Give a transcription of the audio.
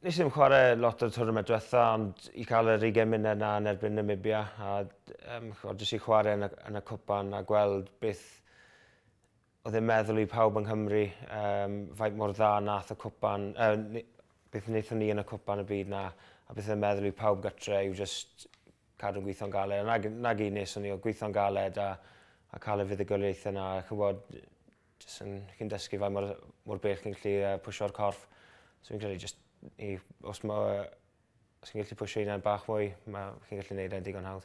Nes i ddim chwarae lot o'r tournament diwetha, ond i cael yr 20 munud na yn erbyn Namibia, a jyst i chwarae yn y cwpan a gweld beth oedd e'n meddwl i pawb yng Nghymru, faint mor dda nath y cwpan, beth wnaethon ni yn y cwpan y byd na, a beth oedd e'n meddwl i pawb gytre yw jyst cadw'n gweithio'n galed. A nag un nes o'n i o gweithio'n galed a cael y fuddugoliaethau yna, a chybod, jyst yn, chi'n dysgu faint mor bell chi'n gallu pwysio'r corff. So fi'n credu jyst os chi'n gallu pwysio hynna'n bach mwy, chi'n gallu gwneud e'n digon hawdd.